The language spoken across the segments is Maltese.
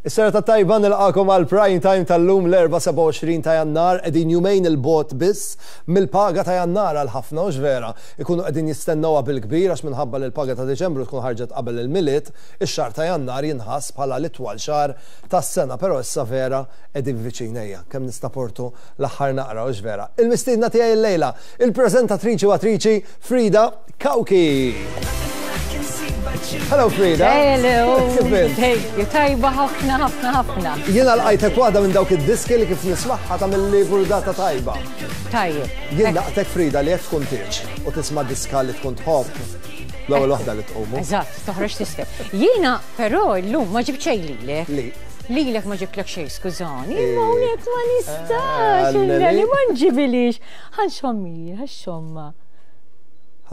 Is-serata t-tajba nilqagħkom għal Prime Time tal-lum l-Erbgħa 27 ta' Jannar qegħdin jumejn 'il bogħod biss mill-paga ta' Jannar għal ħafna hux vera? Ikunu qegħdin jistennewha bil-kbir għax minħabba li l-paga ta' Diċembru tkun ħarġet qabel il-Milied, ix-xahar ta' Jannar jinħass bħala l-itwal xahar tas-sena però issa vera qegħdin viċin ejja kemm nistaportu l-aħħar naqra hux vera? Il-mistiedna tiegħi illejla, il-preżentatriċi u attriċi Frida Cauchi! Hello Frida! Hello! Kif int? Thank you, tajba ħafna ħafna ħafna. Jiena lqajtek waħda minn dawk id-diski li kif nismagħha tagħmilli burdata tajba. Tajjeb. Jien laqtek Frida li jekk tkun tieġ u tisma' diska li tkun tħobb l-ewwel waħda li tqumu. Eżatt, toħroġ tisfel. Jiena però llum ma ġibt xejn lilek. Li? Lilek ma ġibtlek xejn, skużani, imma hawnhekk ma nistax, li ma nġibilix. Ħa nxommija, ħa xomma.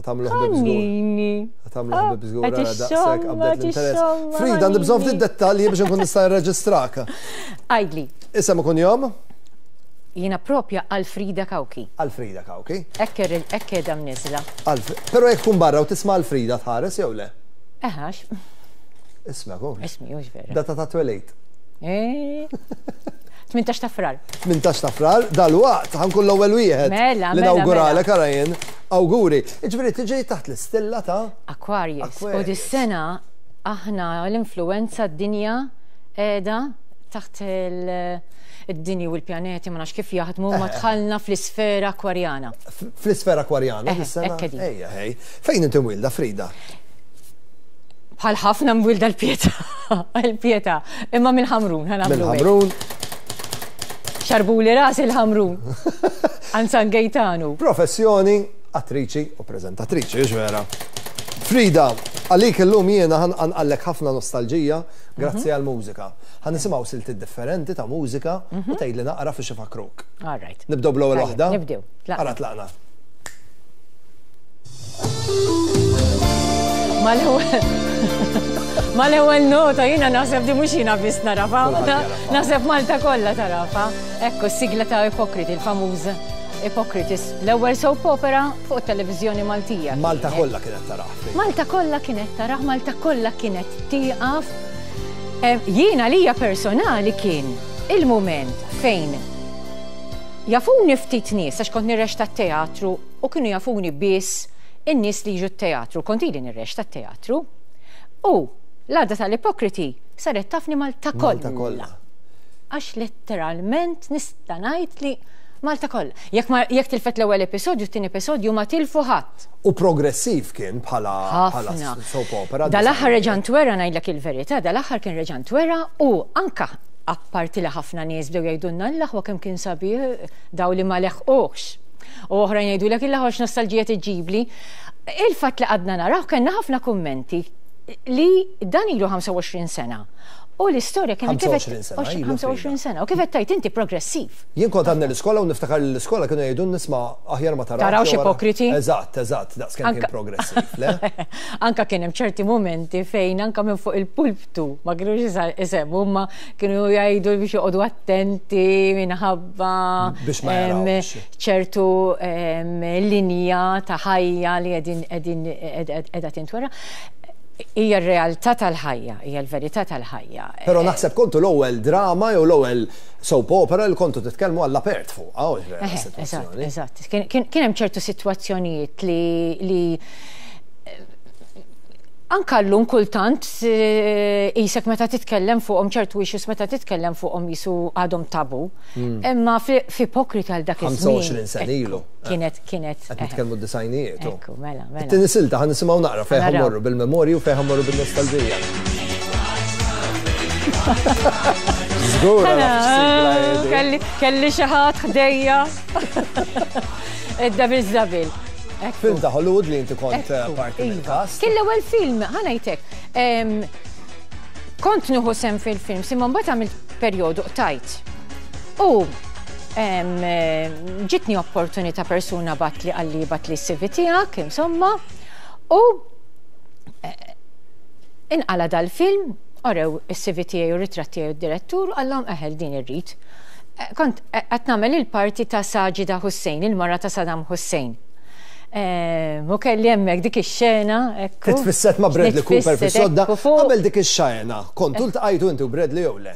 Ħa tagħmlu ħbieb żgur. Ħa tagħmlu ħbieb żgur ara daqshekk qabdet l-interess. Frida, għandi bżonn ftit dettalji biex inkun nista' nirreġistrak. Għidli. Isem u kunjom? Jiena propja Alfrida Cauchi. Alfrida Cauchi. Hekk hekk qiegħda mniżżla. Però jekk tkun barra u tisma' Alfrida tħares jew le? Eħax. Ismek hu. Ismi hux vera. Data ta' twelid. Eh. 18 ta' Frar. 18 ta' Frar, dalwaqt ħa nkun l-ewwel wieħed. Mela, li mela, nawguralek mela. ara jien. Awguri. Jiġifieri tiġi taħt l-istilla ta' Aquarius. U dis-sena aħna l-influenza d-dinja qiegħda taħt id-dinji u l-pjaneti ma nafx kif jaħdmu ma dħalna fl-isfera akwarjana. Fl-isfera akwarjana dis-sena? Ejja, ħej. Fejn inti mwilda, Frida? Bħal ħafna mwilda l-Pietà. Il-Pietà. Imma mill-Ħamrun, ħa nagħmlu hekk. Mill-Ħamrun. Xarbuli rasi l-Ħamrun. Għand San Gejtanu. Professjoni, attriċi u preżentatriċi, hux vera? Frida, għalik illum jiena ħa nqanqallek ħafna nostalġija grazzi mhm. għall-mużika. Ħa nisimgħu siltiet differenti ta' mużika u mhm. tgħidli naqra fiex ifakruk. All right. Nibdew bl-ewwel waħda? Nibdew. Ara tlaqna. Mal-ewwel nota jiena naħseb di mhux jiena biss narafa, naħseb Malta kollha tarafa. Ekku s-sigla ta' Ipokriti, il-famuż Ipokritis, l-ewwel soap opera fuq it-televiżjoni Maltija. Malta kollha kienet tarah. Malta kollha kienet tarah, Malta kollha kienet tieqaf. Eh, jiena lija personali kien il-mument fejn Jafuni ftit nies għax kont nirrexta t-teatru u kienu jafuni biss in-nies li jiġu t-teatru, kont ili nirrexta t-teatru. U l-għada tal-Ipokriti saret tafni Malta kollha. Malta kollha. Għax letteralment nista' ngħid li Malta kollha. Jekk ma jekk tilfet l-ewwel episodju, t-tieni episodju ma tilfu ħadd. U progressiv kien bħala bħala soap opera. Dal-aħħar reġa' ntwera ngħidlek il-verità, dal-aħħar kien reġa' ntwera u anka Apparti li ħafna nies bdew jgħidulna l-aħwa kemm kien sabiħ, daw li ma leħquhx. U oħrajn jgħidulek il-aħwa x'nostalġija tiġġibli. Il-fatt li qgħadna naraw kellna ħafna kummenti li dan ilu 25 sena. U l-istorja kienet kif 25 sena, ilu 25 sena. U kif qed tgħid inti progressiv. Jien kont għadni l-iskola u niftakar li l-iskola kienu jgħidulna isma' aħjar ma tarawx. Tarawx ipokriti. Eżatt, eżatt, daqs kemm kien progressiv, le? Anka kien hemm ċerti mumenti fejn anka minn fuq il-pulptu ma kinux isemmu imma kienu jgħidu biex joqogħdu attenti minħabba biex ma jarawx. ċertu linja ta' ħajja li qegħdin qegħdin qiegħda tintwera. Hija r-realtà tal-ħajja, hija l-verità tal-ħajja. Però naħseb kontu l-ewwel drama jew l-ewwel soap opera li kontu titkellmu għall-apert fuqha, hux vera s-sitwazzjoni. Eżatt, eżatt. Kien hemm ċertu sitwazzjonijiet li Anka llum kultant qisek meta titkellem fuqhom ċertu issues meta titkellem fuqhom qisu għadhom tabu. Imma f'ipokrita għal dak iż-żmien. 25 sena ilu. Kienet kienet. Qed nitkellmu d-disajnijiet. Ekku, mela, mela. It-tieni silta ħa nisimgħu naqra fejn ħa mmorru bil-memorji u fejn ħa mmorru bin-nostalġija. Żgur Kelli xi ħadd ħdejja. Id-Devil's Double. Film ta' Hollywood li inti kont eh, parti iva. mill-cast. Kien l-ewwel film, ħa ngħidlek. Kont nieħu sem fil-film, imma mbagħad għamilt perjodu qtajt. U ġitni opportunità persuna batli qalli batli s-CV tiegħek, insomma, u eh, inqala dal-film, orew is-CV tiegħi u r-ritratt tiegħi u d-direttur, qallhom eħel din irrid. Eh, kont qed nagħmel il-parti ta' Sajida Hussein, il-mara ta' Saddam Hussein. U kelli hemmhekk dik ix-xena, ekku. Titfisset ma' Bradley Cooper fis-sodda. Qabel dik ix-xena, kontu ltqajtu inti u Bradley jew le?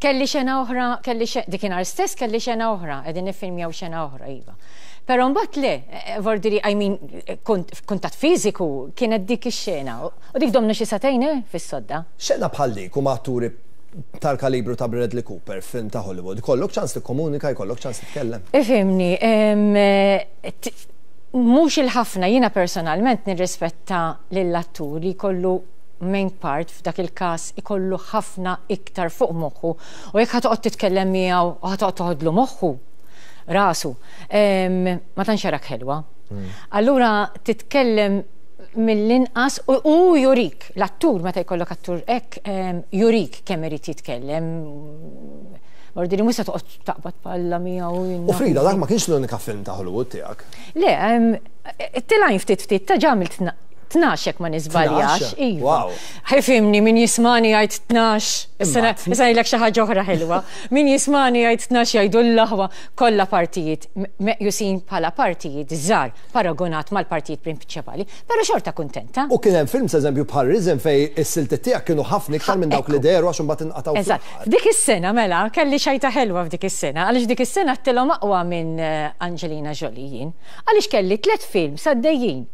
Kelli xena oħra, kelli dikinhar stess kelli xena oħra, qegħdin niffilmjaw xena oħra, iva. Però mbagħad le, vordiri, I mean, kuntatt fiżiku kienet dik ix-xena. U dik domna xi sagħtejn, eh, fis-sodda. Xena bħal dik u ma' atturi tal-kalibru ta' Bradley Cooper f'film ta' Hollywood, ikollok ċans tikkomunika, jkollok ċans titkellem? Ifhimni, mhux il-ħafna, jiena personalment nirrispetta lill-attur li jkollu main part f'dak il-każ ikollu ħafna iktar fuq moħħu u jekk ħa toqgħod titkellem miegħu u ħa toqgħod toħodlu moħħu, rasu, ma tantx jarak ħelwa. Allura titkellem mill-inqas u hu jurik, l-attur meta jkollok attur hekk jurik kemm irid jitkellem. Ordini mhux se toqgħod taqbad palla miegħu. U Frida, dak ma kienx l-unika film ta' Hollywood tiegħek. Le, tilgħin ftit ftit ta' ġamilt 12 jekk ma niżbaljax. Iva. Ħifimni min jismani jgħid 12. Issa ngħidlek xi ħaġa oħra ħelwa. Min jismani jgħid 12 jgħidu l-aħwa kollha partijiet meqjusin bħala partijiet żgħar paragunat mal-partijiet prinċipali, però xorta kuntenta. U kien hemm films eżempju bħal Risen fejn is-siltiet tiegħek kienu ħafna iktar minn dawk li dehru għax imbagħad inqatgħu fl-aħħar. Eżatt. F'dik is-sena mela kelli xajta ħelwa f'dik is-sena għaliex dik is-sena għedtilhom aqwa minn Angelina Jolie jien. Għaliex kelli tlett films għaddejjin.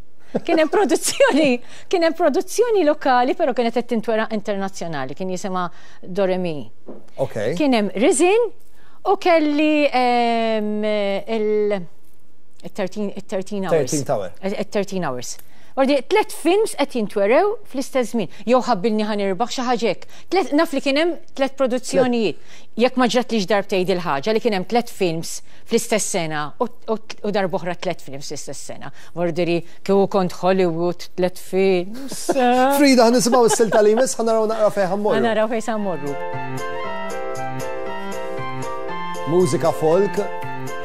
Kien hemm produzzjoni, kien hemm produzzjoni lokali però kienet qed tintwera internazzjonali, kien jisimha Doremi. Okay. Kien hemm Risen u kelli il 13 hours. 13 Tower. 13 hours. Ordi, tlet films qed jintwerew fl-istess żmien. Jew ħabbilni ħa nirbaħ xi ħaġa hekk. Tlet naf li kien hemm tlet produzzjonijiet. Jekk ma ġratlix darbtejn dil-ħaġa li kien hemm tlet films fl-istess sena u darb'oħra tlet films fl-istess sena. Vordiri kieku kont Hollywood tlet films. Frida, ħa nisimgħu s-silta li jmiss, ħa naraw naqra fejn ħa mmorru. Ħa naraw fejn sa mmorru. Mużika folk,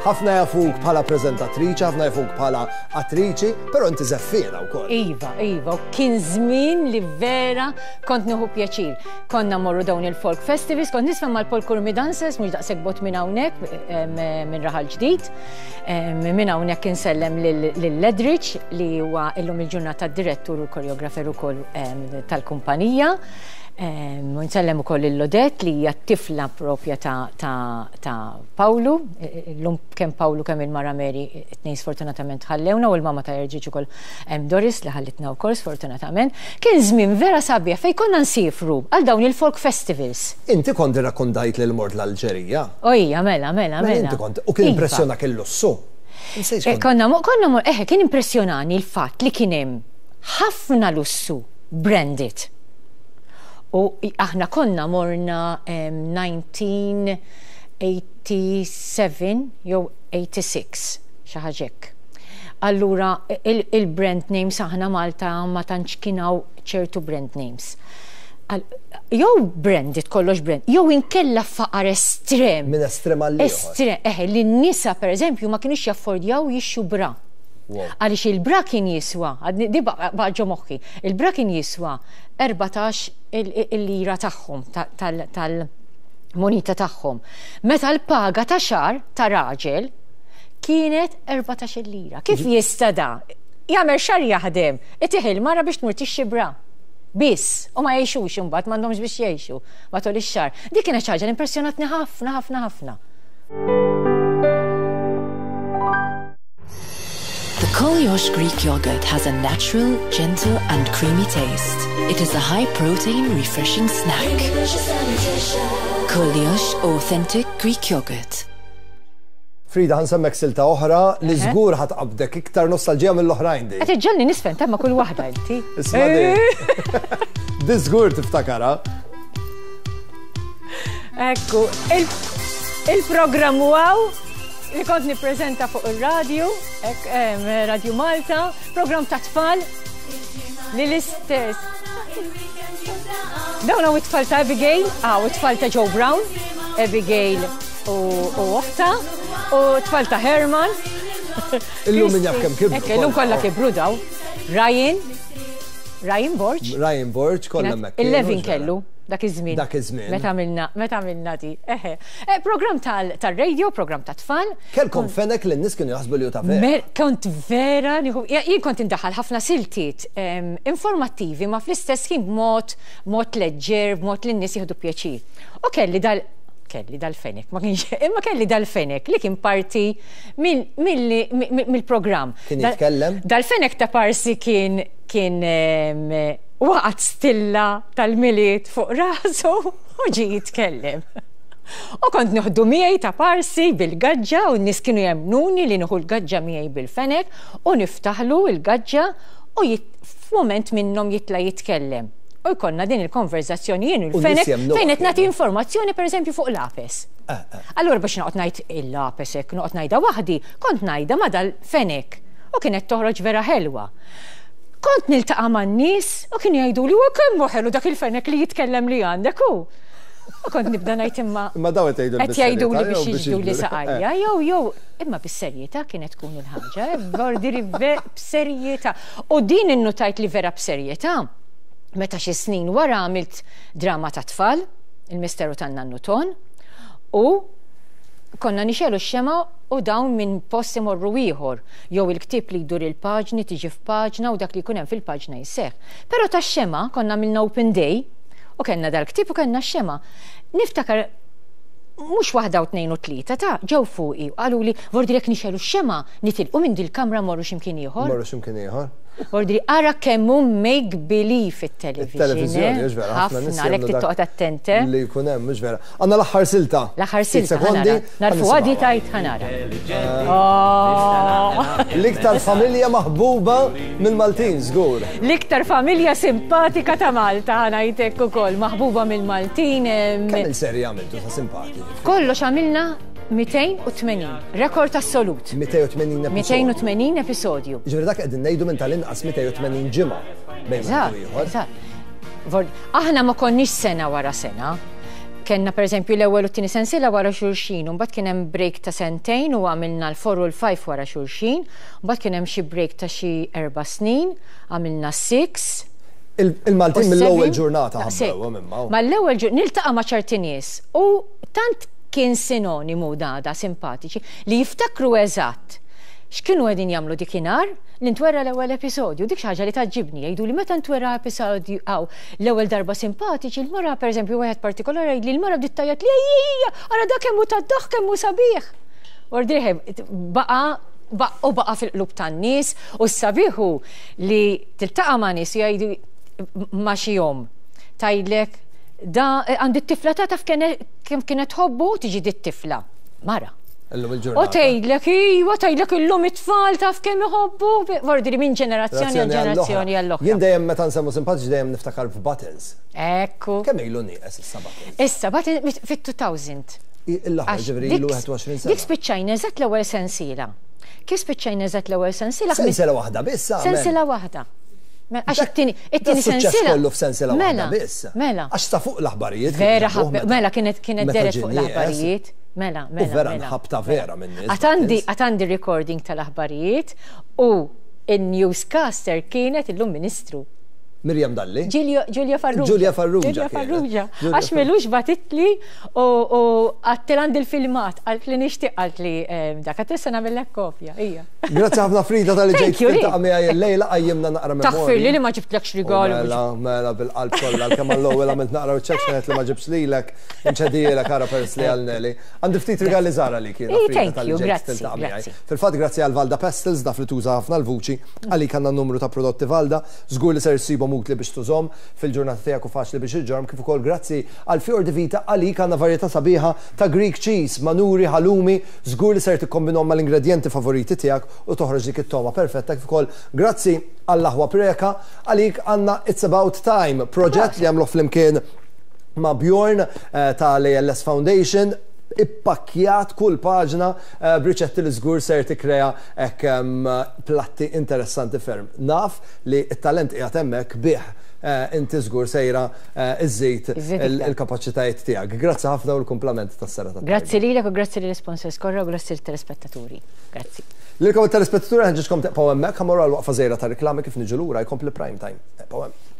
ħafna jafuk bħala preżentatriċi, ħafna jafuk bħala attriċi, però inti żeffiena wkoll. Iva, iva, u kien żmien li vera kont nieħu pjaċir. Konna morru dawn il-folk festivals, kont nisma' mal-Paul Curmi Dancers, mhux daqshekk bot minn hawnhekk, minn Raħal Ġdid. Minn hawnhekk insellem lil Ledrich li huwa illum il-ġurnata d-direttur u l-koreografer ukoll tal-kumpanija. U nsellem ukoll lil Odette li hija t-tifla propja ta' ta' ta' Pawlu. Illum kemm Pawlu kemm il-mara Mary it-tnejn sfortunatament ħallewna u l-mama ta' Erġiġ ukoll Doris li ħallitna wkoll sfortunatament. Kien żmien vera sabiħ fejn konna nsiefru għal dawn il-folk festivals. Inti kont irrakkontajt li mort l-Alġerija. O hija, mela, mela, mela. Inti kont, u kien impressjonak il-lussu. Konna, konna, eħe, kien impressjonani l-fatt li kien hemm ħafna lussu branded. U aħna konna morna 1987 jew 86, xi ħaġa hekk. Allura il-brand names aħna Malta ma tantx kien hawn ċertu brand names. Jew branded kollox brand, jew inkella faqar estrem. Minn estrem għal ieħor. Estrem, eħe, li n-nisa pereżempju ma kinux jaffordjaw jixtru bra. Għaliex il-bra kien jiswa, di baqa' ġo moħħi, il-bra kien jiswa 14 il-lira tagħhom, tal-munita tagħhom. Meta l-paga ta' xahar ta' raġel kienet 14 lira. Kif jista' da? Jagħmel xahar jaħdem, itih il-mara biex tmur tixtri bra. Biss, u ma jgħixux imbagħad m'għandhomx biex jgħixu matul ix-xahar. Dik kienet xi ħaġa li impressjonatni ħafna ħafna ħafna. The Koliosh Greek yogurt has a natural, gentle and creamy taste. It is a high-protein, refreshing snack. Koliosh Authentic Greek Yogurt. Frida, ħa nsemmek silta oħra li żgur ħa tqabbdek iktar nostalġija mill-oħrajn di. Qed iġġegħelni nisfen temma kull waħda inti. Isma' di. Di żgur tiftakarha. Ekku, il-programm wow li kont nippreżenta fuq ir-radju, Radio Malta, programm ta' tfal li l-istess. Dawn hawn it-tfal ta' Abigail, hawn it-tfal ta' Joe Brown, Abigail u oħta, u t-tfal ta' Herman. Illum min jaf kemm kibru. Illum kollha kibru daw. Ryan, Ryan Borg. Ryan Borg, kollha hemmhekk. 11 kellu. Dak iż-żmien. Dak iż-żmien. Meta għamilna, meta għamilna di. Eħe. Eh, program tal-radio, program ta' tfal. Kelkom fenek li n-nies kienu jaħsbu li hu ta' vera. Kont vera, jien kont indaħħal ħafna siltiet informattivi ma fl-istess ħin b'mod mod leġġer, b'mod li n-nies jieħdu pjaċir. U kelli dal kelli dal-fenek, ma kienx, imma kelli dal-fenek li kien parti mill-programm. Kien jitkellem? Dal-fenek ta' parsi kien kien waqgħet stilla tal-Milied fuq rasu u ġie jitkellem. U kont nieħdu miegħi ta' parsi bil-gaġġa u n-nies kienu jemmnuni li nieħu l-gaġġa miegħi bil-fenek u niftaħlu l-gaġġa u f'mument minnhom jitla' jitkellem. U jkollna din il-konverżazzjoni jien u l-fenek fejn qed nagħti informazzjoni pereżempju fuq l-apes. Eh, eh. Allura biex noqgħod ngħid il-apes hekk noqgħod ngħidha waħdi, kont ngħidha ma' dal-fenek u kienet toħroġ vera ħelwa. Kont niltaqa' man-nies u kienu jgħiduli wa kemm hu ħelu dak il-fenek li jitkellem li għandek hu. U kont nibda ngħid imma. Imma dawn qed jgħidu Qed jgħiduli biex jiġbduli saqajja, jew jew imma bis-serjetà kienet tkun il-ħaġa, eh, vordiri b'serjetà. U din innutajt li vera b'serjetà meta xi snin wara għamilt drama ta' tfal, il-Misteru tan-Nannu Ton, u konna nixegħlu x-xemgħa u dawn minn post imorru ieħor, jew il-ktieb li jdur il-paġni tiġi f'paġna u dak li jkun hemm fil-paġna jseħħ. Però tax-xemgħa konna għamilna open day u kellna dal-ktieb u kellna x-xemgħa. Niftakar mhux waħda u tnejn u tlieta ta' ġew fuqi u qaluli vordi jekk nixegħlu x-xemgħa nitilqu minn dil-kamra mmorru xi mkien ieħor. Mmorru xi mkien ieħor. Vordi ara kemm hu make believe it-television. It-televiżjoni, mhux vera. Ħafna, għalhekk trid toqgħod attent. Eh? Li jkun hemm, mhux vera. Għandna l-aħħar silta. L-aħħar silta. Sekondi. Narfu għadi tajt ħanara. Oh. L-iktar familja maħbuba mill-Maltin, żgur. L-iktar familja simpatika ta' Malta ħanajtek ukoll, maħbuba mill-Maltin. Kemm il-serja għamiltu ta' simpatiċi? Kollox għamilna 280, rekord assolut. 280 episodju. 280 episodju. Ġifieri dak qegħdin ngħidu minn tal-inqas 280 ġimgħa bejn ieħor. Aħna ma konniex sena wara sena. Kellna pereżempju l-ewwel u t-tieni sensiela wara xulxin, u mbagħad kien hemm break ta' sentejn u għamilna l-four u l-five wara xulxin, mbagħad kien hemm xi break ta' xi erba' snin, għamilna s-six. Il-Maltin mill-ewwel ġurnata ħabbewhom imma. Mal-ewwel ġurnata, niltaqa' ma' ċerti nies u tant kien sinonimu da simpatiċi li jiftakru eżatt x'kienu qegħdin jagħmlu dikinhar li ntwera l-ewwel episodju. Dik xi ħaġa li tgħaġġibni, jgħiduli meta ntwera episodju hawn L-ewwel darba simpatiċi, l-mara pereżempju wieħed partikolari jgħidli l-mara bdiet tgħajjat li ejja, ara dak kemm hu tad-daħk kemm hu sabiħ. Ordieħ baqa' u baqa' fil-qlub tan-nies u s-sabiħ hu li tiltaqa' ma' nies jgħidu ma' xi omm tgħidlek da għandi t-tifla ta' taf kemm kienet tħobbu tiġi dit-tifla. Mara. Illum il-ġurnata. U tgħidlek iva, tgħidlek illum it-tfal taf kemm iħobbu, vordi li minn ġenerazzjoni għal ġenerazzjoni għall oħra. Jien dejjem meta nsemmu simpatiċi dejjem niftakar f'Buttons. Ekku. Kemm ilu nieqes issa Buttons? Issa Buttons fit-2000. Il-aħħar ġifieri ilu 21 sena. Dik spiċċajna eżatt l-ewwel sensiela. Kif spiċċajna eżatt l-ewwel sensiela? Sensiela waħda biss. Sensiela waħda. Mela, għax it-tieni it-tieni sensiela. kollu f'sensiela waħda mela, biss. Mela. Għax sa fuq l-aħbarijiet. Vera ħabbe, mela kienet kienet deret fuq l-aħbarijiet. Mela, mela. U vera mela. nħabta vera minn nies. Għad għandi recording tal-aħbarijiet u il-newscaster kienet illum ministru. Miriam Dalli? Giulia Farrugia. Giulia Farrugia. Giulia Farrugia. Għax melux batitli u għattil għandi l-filmat, għalt li nixtieq għalt li eh, dak għat nagħmellek kopja. Ija. Grazzi ħafna Frida tal-li ġejt tiltaqa' miegħi illejla qajjimna naqra memorji. Taħfirli li ma ġibtlekx rigal. Mela, mela bil-qalb kollha kemm għall-ewwel għamilt naqra wiċċek x'ngħid li ma ġibx lilek, inċedielek ara peress li għal Nelly. Għandi ftit rigali żgħar għalik jiena Frida talli ġejt tiltaqa' miegħi. Fil-fatt grazzi għal Valda Pestles naf li tuża ħafna l-vuċi, għalik għandna numru ta' prodotti Valda, żgur li ser issibhom utli biex tużhom fil-ġurnata tiegħek u faċli biex iġġorrhom kif ukoll grazzi għal Fior di Vita għalik għandna varjetà sabiħa ta' Greek cheese, manuri, halloumi, Żgur li ser tikkombinhom mal-ingredjenti favoriti tiegħek u toħroġ dik it-togħma perfetta kif ukoll grazzi għall-aħwa Preca għalik għandna It's About Time, proġett li għamluh flimkien ma' Bjorn tal-ALS Foundation ippakkjat kull paġna b'riċetti li żgur ser tikkrea hekk platti interessanti ferm. Naf li t-talent qiegħed hemmhekk bih inti żgur sejra iżżid il-kapaċitajiet tiegħek. Grazzi ħafna u l-kumplament tas-serata t-tajba. Grazzi lilek u grazzi lill-isponsors kollha u grazzi lit-telespettaturi. Grazzi. Lilkom it-telespettaturi nħeġġiġkom tibqgħu hemmhekk, ħa mmorru għal waqfa żgħira ta' riklami kif niġu lura jkompli Prime Time. Ibqgħu hemm.